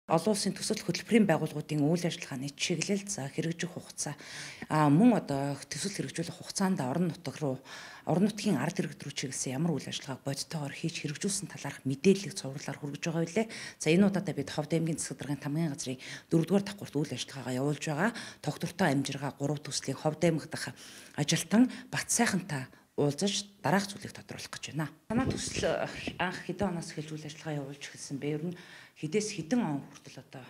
Олон улсын төсөл хөтөлбөрийн байгууллагуудын үйл ажиллагааны чиглэл за хэрэгжих хугацаа мөн одоо төсөл хэрэгжүүлэх хугацаанд орон нутгийн ард иргэд рүү чиглэсэн ямар үйл ажиллагааг бодитоогоор хийж хэрэгжүүлсэн талаарх мэдээллийг цувралаар хүргэж байгаа билээ. За энэ удаадаа бид Ховд аймгийн засаг даргын тамгын газрын 4-р давхурт үйл ажиллагаагаа явуулж байгаа. Тогтвортой амжиргаа 3 төслийн Ховд аймаг дахь ажилтан Бат сайхантай уулзаж дараах зүйлийг тодруулах гэж байна. Танай төсөл анх хэдэн оноос эхэлж үйл ажиллагаа явуулж эхэлсэн бэ? Ер нь хэдээс хэдэн он хүртэл одоо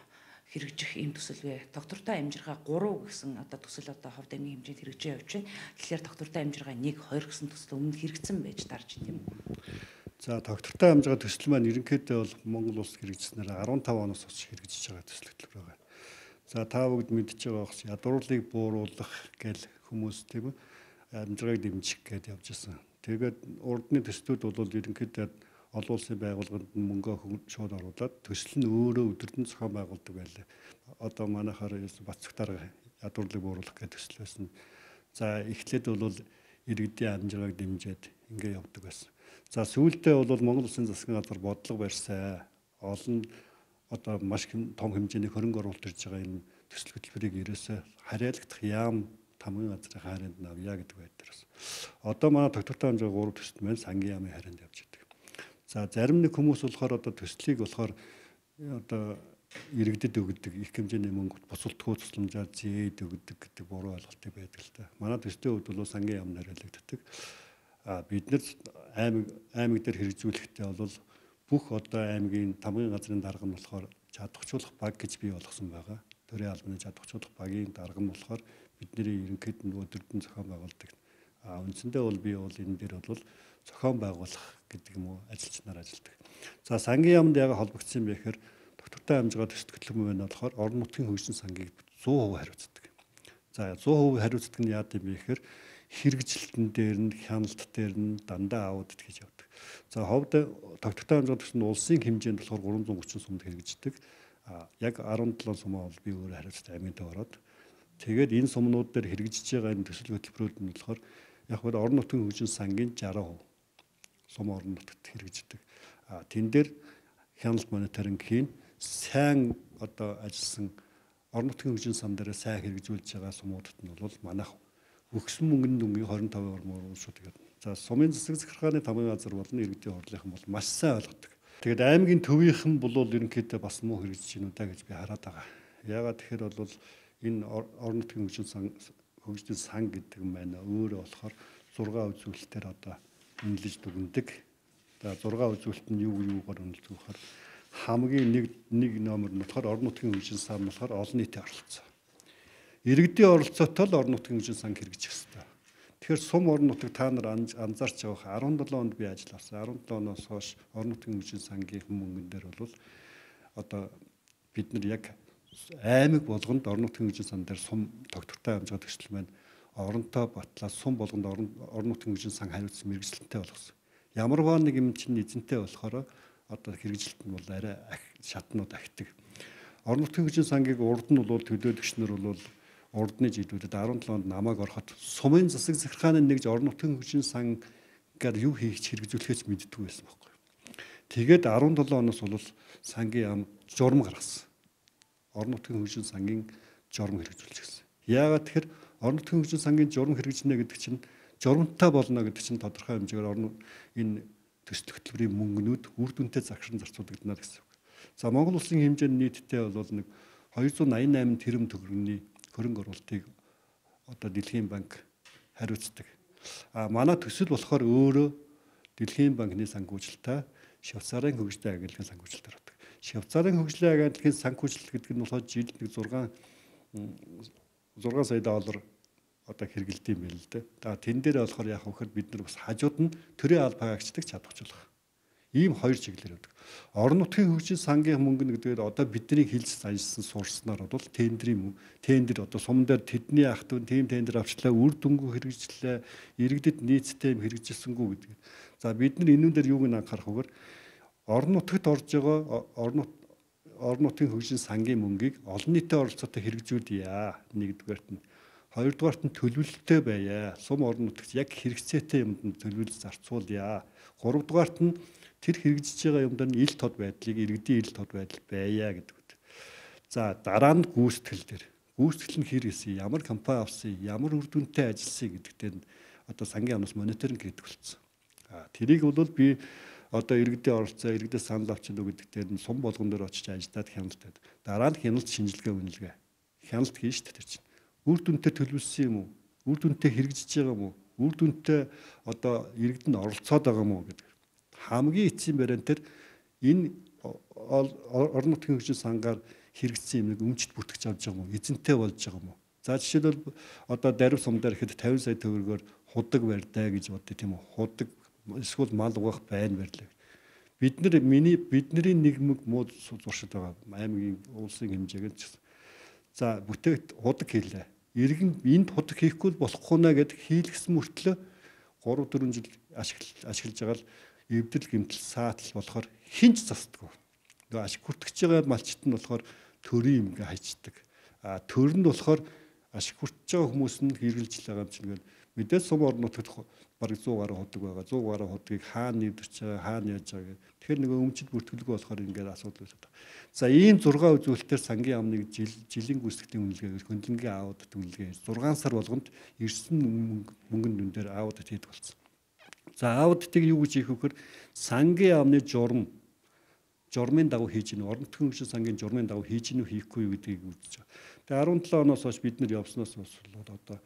хэрэгжих ийм төсөл вэ? Доктортой амжиргаа 3 гэсэн одоо төсөл одоо Ховд аймгийн хэмжээнд хэрэгжиж явж байна. Тэгэхээр доктортой амжиргаа 1, 2 гэсэн төсөл өмнө хэрэгжсэн байж тарж тийм үү? За доктортой амжиргаа төсөл маань ерөнхийдөө бол Монгол улс хэрэгжснээр 15 оноос хойш хэрэгжиж байгаа төсөл хөтөлбөр байна. За та бүгд мэдж байгаа бохс ядуурлыг бууруулах гэл хүмүүс тийм үү? Амжиргааг дэмжих гэдээ явж байсан. Тэгээд урдны төслүүд бол ерөнхийдөө олон улсын байгууллаганд мөнгө шууд оруулаад төсөл нь өөрөө өдөртөн зохион байгуулдаг байлаа. Одоо манайхаар Бат цогтарга ядуурлыг бууруулах гэх төсөл байсан. За эхлээд бол иргэдийн амжиргааг дэмжиж ингэ явдаг байсан. За сүүлдээ бол Монгол улсын засгийн газар бодлого барьсан. Олон одоо маш том хэмжээний хөрөнгө оруулалт ирж байгаа энэ төсөл хөтөлбөрийг ерөөсөө хариалагдах яам тамгын газрын хайранд навья гэдэг байдлаар. Одоо манай доктортой амжиргаа 3 төсөл маань сангийн яамын хайранд явж байгаа. За зарим нэг хүмүүс болохоор одоо төслийг болохоор одоо иргэдэд өгдөг их хэмжээний мөнгө бусалтгүй тусламжаар зээд өгдөг гэдэг буруу ойлголтыг байдаг л да. Манай төслийн хувьд бол сангийн яамд хариалагддаг. Бид нар аймаг дээр хэрэгжүүлэхдээ бол бүх одоо аймгийн тамгын газрын дарга нь болохоор чадварчуулах баг гэж бий болгосон байгаа. Төрийн албаны чадварчуулах багийн дарга нь болохоор бидний ерөнхийд нь өдөртөн зохион байгуулдаг. Үндсэндээ бол би бол энэ дээр бол зохион байгуулах гэдэг юм уу ажилчнаар ажилладаг. За сангийн яамд яг холбогдсон юм бэхээр доктортой амжиргаа төсөл хөтөлбөр маань болохоор орон нутгийн хөгжлийн сангийг 100% хариуцдаг. За 100% хариуцдаг нь яа гэм бэхээр хэрэгжилтэн дээр нь хяналт дээр нь дандаа аудит хийж явдаг. За Ховд доктортой амжиргаа төсөл нь улсын хэмжээнд болохоор 330 сумд хэрэгждэг. Яг 17 сумаа бол би өөрөө хариуцдаг аймагт ороод тэгээд энэ сумнууд дээр хэрэгжиж байгаа энэ төсөл хөтөлбөрүүд нь болохоор яг бол орон нутгийн хөгжлийн сангийн 60% сум орон нутгад хэрэгждэг. Тэн дээр хяналт мониторинг хийн сайн одоо ажилласан орон нутгийн хөгжлийн сан дээр сайн хэрэгжүүлж байгаа сумуудад нь бол манайх өгсөн мөнгөний дүнгийн 25% мөрөөсөд тэгээд за сумын засаг захиргааны тамгын газар болон иргэдийн хурлынхан бол маш сайн ойлгодог. Тэгээд аймгийн төвийнхэн бол ерөнхийдөө бас муу хэрэгжиж гинэ удаа гэж би хараад байгаа. Яагаад тэгэхээр бол энэ орон нутгийн хөгжлийн сан гэдэг юм байна. Өөрөө болохоор 6 үзүүлэлтээр одоо үнэлж дүгнэдэг. За 6 үзүүлэлт нь юугаар үнэлдэг вэ гэхээр хамгийн нэг номер нь болохоор орон нутгийн хөгжлийн сан болохоор олон нийтийн оролцоо. Иргэдийн оролцоотой л орон нутгийн хөгжлийн сан хэрэгжих ёстой. Тэгэхээр сум орон нутаг та нар анзаарч байгаа 17 онд би ажил авсан. 17 оноос хойш орон нутгийн хөгжлийн сангийн мөнгөн дээр бол одоо бид нар яг аймаг болгонд орон нутгийн хөгжлийн сан дээр сум доктортой амжиргаа төсөл маань оронтой батлаа сум болгонд орон нутгийн хөгжлийн сан хариуцсан мэрэгжилтэнтэй болгосон. Ямарваа нэг юм чинь эзэнтэй болохоор одоо хэрэгжилт нь бол арай шатнууд ахдаг. Орон нутгийн хөгжлийн сангийг урд нь бол төлөөлөгчнөр бол урдны жилүүдэд 17 онд намайг ороход сумын засаг захиргааны нэгж орон нутгийн хөгжлийн сангаар юу хийх хэрэгжүүлэхээс мэддэггүй байсан байхгүй. Тэгээд 17 оноос бол сангийн яам журам гаргасан. Орон нутгийн хөгжлийн сангийн журам хэрэгжүүлж гисэн. Яагаад тэгэхээр орон нутгийн хөгжлийн сангийн журам хэрэгжинэ гэдэг чинь журамтай болно гэдэг чинь тодорхой хэмжээгээр энэ төсөл хөтөлбөрийн мөнгнүүд үр дүнтэй загшин зарцуулагдана гэсэн үг. За Монгол улсын хэмжээнд нийтдээ бол нэг 288 тэрбум төгрөгийн хөрөнгө оруулалтыг одоо Дэлхийн банк хариуцдаг. Манай төсөл болохоор өөрөө Дэлхийн банкны санхүүжилтээр Швейцарын хөгжлийн агентлагийн санхүүжилтээр байдаг. Швейцарын хөгжлийн агентлагийн санхүүжилт гэдэг нь болохоор жилд нэг 6 сая доллар одоо хэрэгэлдэв юм байна л дээ. Тэн дээр болохоор яг хөхөр бид нар бас хажууд нь төрийн албаа агчдаг чадварчлах. Ийм хоёр чиглэлээр байдаг. Орон нутгийн хөгжлийн сангийн мөнгө гэдэг одоо бидний хилж ажилласан суурснаар бол тендер одоо сум дээр тэдний ах トゥ тим тендер авчлаа үр дүнгүй хэрэгжлээ иргэдэд нийцтэй юм хэрэгжилсэнгүй гэдэг. За бид нар энүүн дээр юуг анхаарах вэгээр орон нутагт орж байгаа орон нутгийн хөгжлийн сангийн мөнгийг олон нийтийн оролцоотой хэрэгжүүлье. Нэгдүгээрт нь хоёрдугаарт нь төлөвлөлттэй байя. Сум орон нутагт яг хэрэгцээтэй юмд төлөвлөж зарцуулъя. Гуравдугаарт нь тэр хэрэгжиж байгаа юмдаа ил тод байдлыг иргэдийн ил тод байдал байя гэдэг. За дараа нь гүйцэтгэл дээр. Гүйцэтгэл нь хэр хийсэн, ямар компани авсан, ямар үр дүнтэй ажилласан гэдэгтээ одоо сангийн амнаас мониторинг хийдэг болсон. Тэрийг бол би одоо иргэдийн оролцоо, иргэдээ санал авчина уу гэдэгтээ нь сум болгон дээр очиж ажиллаад хяналтад. Дараа нь хяналт шинжилгээ үнэлгээ. Хяналт хийн шүү дээ тэр чинь. Үр дүнтэй төлөвлөсөн юм уу? Үр дүнтэй хэрэгжиж байгаа юм уу? Үр дүнтэй одоо иргэд нь оролцоод байгаа юм уу гэдэг. Хамгийн эцсийн бариан дээр энэ орон нутгийн хөгжил сангаар хэрэгжсэн юмыг өмчт бүтгэж авч байгаа юм уу? Эзэнтэй болж байгаа юм уу? За жишээлбэл одоо дарив сум дээр ихэд 50 сая төгрөгөөр худаг барьдаа гэж бодъё тийм үү? Худаг эсвэл мал угаах байн барьлаа. Бидний нийгмиг муу зуршил байгаа. Аймгийн улсын хэмжээгээр ч. За бүтээгт худаг хийлээ. Иргэн энд худаг хийхгүй болохгүй нэ гэд хийлгсэн мөртлөө 3-4 жил ашиглаж байгаа л эвдэл гэмтэл саатал болохоор хинч засдаггүй. Нөгөө ашиг хүртэж байгаа малчит нь болохоор төрийн юм гээ хайчдаг. Төр нь болохоор ашиг хүртэж байгаа хүмүүс нь хэрэгжилж байгаа юм чинь гээд мэдээж сум орон нутагт бараг 100 гаруй худаг байгаа. 100 гаруй худгийг хаана нэвдэрч байгаа, хаана яаж байгаа гэдэг. Тэгэхээр нөгөө өмчит бүртгэлгүй болохоор ингээд асуудал үүсэж байгаа. За ийм 6 үзүүлэлтээр сангийн амныг жилийн гүйцэтгэлийн үнэлгээгээр хөндлөнгийн аудит үнэлгээ 6 сар болгонд ирсэн мөнгөнд дүн дээр аудит хийдэг болсон. За аудитыг юу гэж хийх вэхээр сангийн амны журмын дагуу хийж гинэ, орон нутгийн хөгжил сангийн журмын дагуу хийж гинэ үү хийхгүй юу гэдгийг үзэж байгаа. Тэгээ 17 оноос хойш бид нар явсноос болоод одоо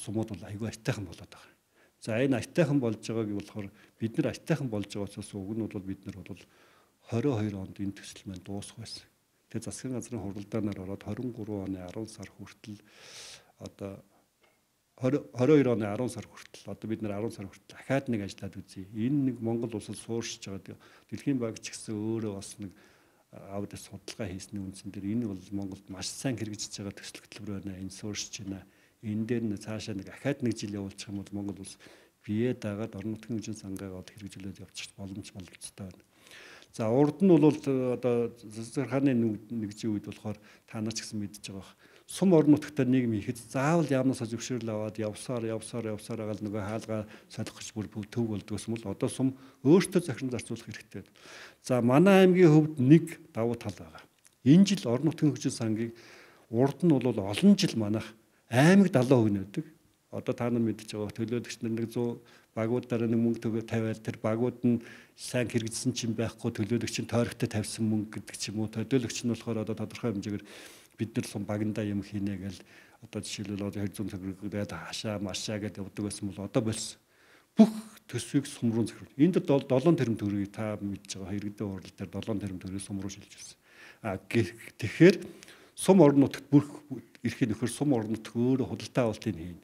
сумууд бол айгүй айтайхан болоод байгаа. За энэ айтайхан болж байгааг болохоор бид нар айтайхан болж байгаасаас уг нь бол бид нар бол 22 онд энэ төсөл маань дуусах байсан. Тэгээ засгийн газрын хуралдаанаар ороод 23 оны 10 сар хүртэл одоо 22 оны 10 сар хүртэл одоо бид нар 10 сар хүртэл дахиад нэг ажиллаад үзье. Энэ нэг Монгол улсад сууршиж байгаа Дэлхийн банк ч гэсэн өөрөө бас нэг аудит судалгаа хийсний үндсэн дээр энэ бол Монголд маш сайн хэрэгжиж байгаа төсөл хөтөлбөр байна. Энэ сууршиж байна. Энэ дээр нь цаашаа нэг дахиад нэг жил явуулчих юм бол Монгол улс бие дагаад орон нутгийн хөгжил сангаагаад хэрэгжүүлээд явчих боломжтой байна. За урд нь бол одоо засгийн нэгжийн үед болохоор та нар ч гэсэн мэдж байгаа. Сум орон нутгад нийгэм ихэд заавал яамнаас зөвшөөрөл аваад явсаар агаал нөгөө хаалгаа солих гэж бүр төв болдгоос юм бол одоо сум өөртөө захиран зарцуулах хэрэгтэй. За манай аймгийн хувьд нэг давуу тал байгаа. Энэ жил орон нутгийн хөгжил сангийг урд нь бол олон жил манайх аймаг 70% нөдөг. Одоо та нар мэдж байгаа төлөөлөгч нар нэг 100 багуудаараа нэг мөнгө төгөө тавиал тэр багууд нь сайн хэрэгжсэн чинь байхгүй төлөөлөгч нь тойрогтой тавьсан мөнгө гэдэг ч юм уу. Төлөөлөгч нь болохоор одоо тодорхой хэмжээгээр бид нар сум багандаа юм хийнэ гэл одоо жишээлбэл одоо 200 төгрөгөд хаашаа машаа гэдээ явдаг байсан бол одоо болсон. Бүх төсвийг сум руу захируулж. Энд 7 тэрбум төгрөгийг та мэдж байгаа иргэдийн хурал дээр 7 тэрбум төгрөгийг сум руу шилжүүлсэн. Тэгэхээр сум орон нутагт бүх эрхийн нөхөр сум орон нутаг өөрөө худалдаа авалтыг хийнэ.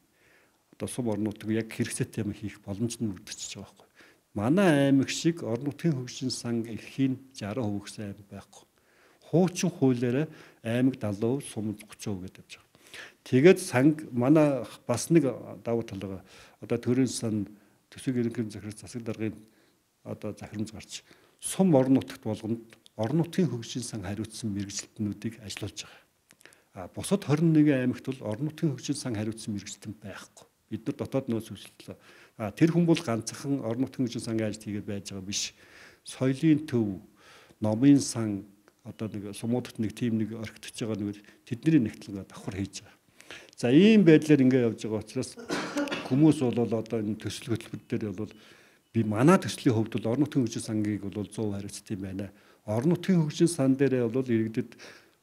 Одоо сум орон нутаг яг хэрэгцээтэй юм хийх боломж нь үүдчихэж байгаа байхгүй. Манай аймаг шиг орон нутгийн хөгжин сан эрхийн 60% гэсэн аймаг байхгүй. Хуучин хуулиараа аймаг 70%, сум 30% гэдэг явж байгаа. Тэгээд санг манай бас нэг давуу тал байгаа. Одоо төрийн сан төсвийг ерөнхий захирал засаг даргын одоо захирамж гарч сум орон нутагт болгонд орон нутгийн хөгжин сан хариуцсан мэргэжилтнүүдийг ажиллуулж байгаа. Бусад 21 аймагт бол орон нутгийн хөгжин сан хариуцсан мэргэжилтэн байхгүй. Бид нар дотоод нөөц үйлчлээ. Тэр хүн бол ганцхан орон нутгийн хөгжин сангийн ажил хийгээд байж байгаа биш. Соёлын төв, номын сан одоо нэг сумуудад нэг тим нэг орхитож байгаа нэг тэдний нэгтлэн давхар хийж байгаа. За ийм байдлаар ингээд явж байгаа учраас хүмүүс бол одоо энэ төсөл хөтөлбөр дээр бол би манай төслийн хувьд бол орон нутгийн хөгжин сангийг бол 100% хариуцдаг юм байна. Орон нутгийн хөгжин сан дээрээ бол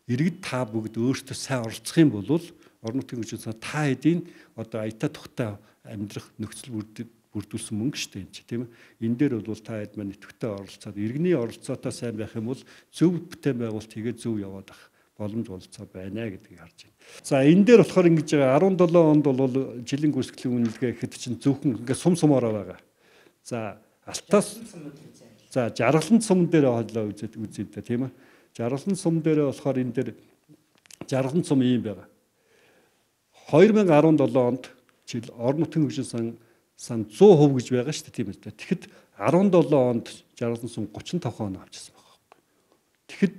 иргэд та бүгд өөртөө сайн оролцох юм бол орон нутгийн хөгжин сан та хэдийн одоо аятаа тухтай амьдрах нөхцөл бүрдүүлсэн мөнгө шүү дээ энэ тийм ээ. Энэ дээр бол та хэд маань идэвхтэй оролцоод иргэний оролцоотой сайн байх юм бол зөв бүтээн байгуулалт хийгээд зөв яваад ах боломж болцоо байна гэдгийг харж байна. За энэ дээр болохоор ингэж 17 онд бол жилийн гүйцэтгэлийн үнэлгээ гэхэд чинь зөвхөн ингээд сумороо байгаа. За алтаас за жаргалан сум дээр хоолоо үзээд та тийм ээ. Жаргалан сум дээр болохоор энэ дээр жаргалан сум ийм байгаа. 2017 онд жил орон нутгийн хөгжин сан 100% гэж байгаа шүү дээ тийм ээ. Тэгэхэд 17 онд жаргалан сум 35% оноо авчихсан байгаа. Тэгэхэд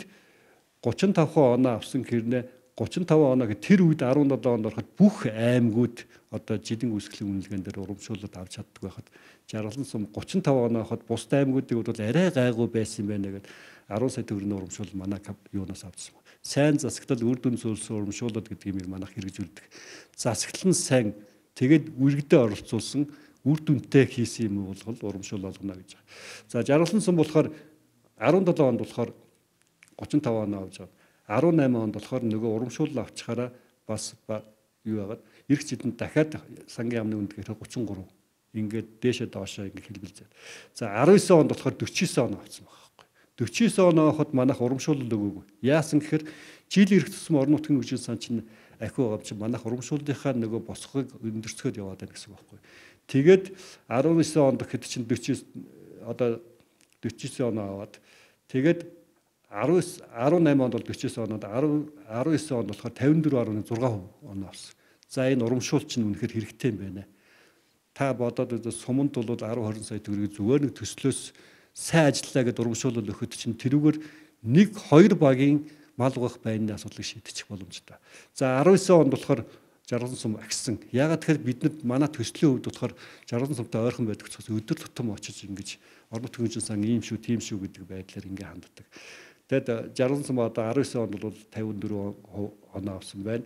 35% оноо авсан хэрнээ 35 оноо гэх тэр үед 17 онд ороход бүх аймагуд одоо жилийн үүсгэлийн үнэлгээнд дээр урамшуулалт авч чаддаг байхад жаргалан сум 35 оноо хот бус аймагуудыг бол арай гайгүй байсан юм байна гэд 10 сая төгрөгийн урамшуул манай юунаас авсан. Сайн засаглал үр дүн зүйлсэн урамшуулалт гэдгийг манайх хэрэгжүүлдэг. Засаглал нь сайн тэгээд үргэлдээ оролцуулсан үр дүнтэй хийсэн юм бол урамшуул болгоно гэж. За жаргалан сум болохоор 17 онд болохоор 35 оноо авч байгаа. 18 онд болохоор нөгөө урамшуул авчихаараа бас юу яагаад эрх зүйн дахиад сангийн яамны үнд гэхээр 33 ингээд дээшээ доошоо ингээд хэлбэлзээ. За 19 онд болохоор 49 оноо авсан байгаа байхгүй. 49 оноо хот манайх урамшуулал өгөөгүй. Яасан гэхээр жил ирэх тусам орон нутгийн хөгжил сан чинь ахиу байгаа чинь манайх урамшууллынхаа нөгөө босгохыг өндөрцгөөд яваад байна гэсэн үг байхгүй. Тэгээд 19 онд гэхэд чинь 49 одоо 49 оноо аваад тэгээд 18 онд бол 49 оноод 19 онд болохоор 54.6% оноо авсан. За энэ урамшуул чинь үнэхээр хэрэгтэй юм байна. Та бодоод үзвэл суманд бол 10-20 сая төгрөгийг зүгээр нэг төслөөс сайн ажиллаа гэдээ урамшуулал өгөхөд чинь тэрүүгээр 1-2 багийн мал угаах байрны асуудлыг шийдчих боломжтой. За 19 онд болохоор жаргалан сум агсан. Яагаад тэгэхээр биднэрт манай төслийн хувьд болохоор жаргалан сумтай ойрхон байдаг учраас өдөр тутам очиж ингэж орон нутгийн хөгжил сан ийм шүү, тийм шүү гэдэг байдлаар ингэ ханддаг. Тэгэд жаргалан сум одоо 19 онд бол 54% оноо авсан байна.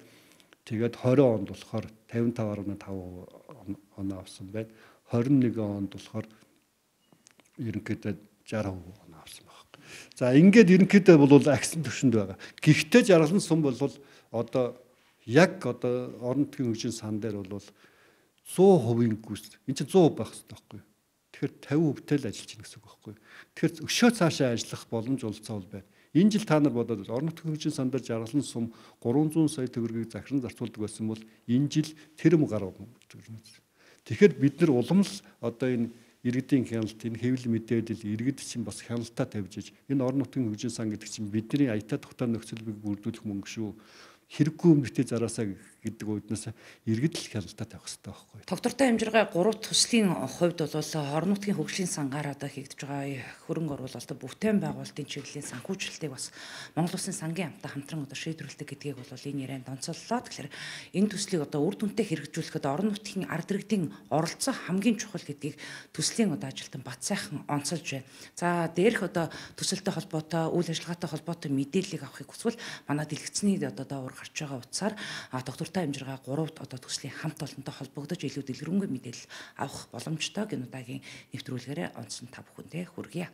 Тэгээд 20 онд болохоор 55.5% оноо авсан байна. 21 онд болохоор ерөнхийдөө 60% оноо авсан байна. За ингээд ерөнхийдөө бол агсан төвшөнд байгаа. Гэхдээ жаргалан сум бол одоо яг одоо орон нутгийн хөгжлийн сан дээр бол 100% гүйс. Энд чинь 100% байх хэрэгтэй байхгүй юу? Тэгэхээр 50%-тэй л ажиллаж байна гэсэн үг байхгүй юу? Тэгэхээр өшөө цаашаа ажиллах боломж олцоо бол байна. Энэ жил та нар бодоод орон нутгийн хөгжлийн сан дээр жаргалан сум 300 сая төгрөгийг захиран зарцуулдаг байсан бол энэ жил тэр гаруй. Тэгэхээр бид нар улам л одоо энэ иргэдийн хяналт, энэ хэвлэл мэдээлэл иргэд чинь бас хяналтаа тавьж иж энэ орон нутгийн хөгжлийн сан гэдэг чинь бидний аятаа тухтай нөхцөлийг бүрдүүлэх мөнгө шүү. Хэрэггүй өмнөтэй зараасаа гэдэг үднээс иргэд л хяналтаа тавих хэрэгтэй байхгүй. Тогтвортой хэмжиргээ 3 төслийн хувьд бол орон нутгийн хөгжлийн сангаар одоо хийгдэж байгаа хөрөнгө оруулалт бүтээн байгуулалтын чиглэлийн санхүүжилтийг бас Монгол Улсын сангийн амттай хамтран одоо шийдвэрлэдэг гэдгийг бол энэ ярианд онцоллоо. Тэгэхээр энэ төслийг одоо үр дүнтэй хэрэгжүүлэхэд орон нутгийн ард иргэдийн оролцоо хамгийн чухал гэдгийг төслийн одоо ажилтан бат сайхан онцолж байна. За дээрх одоо төсөлтэй холбоотой үйл ажиллагаатай холбоотой мэдээллийг авахыг хүсвэл манай дэлгэцний одоо даавар гарч байгаа утсаар доктортой хэмжиргээ 3-т одоо төслийн хамт олонтой холбогдож илүү дэлгэрэнгүй мэдээлэл авах боломжтой гэнэ удаагийн нэвтрүүлгээрээ онцон та бүхэндээ хүргье.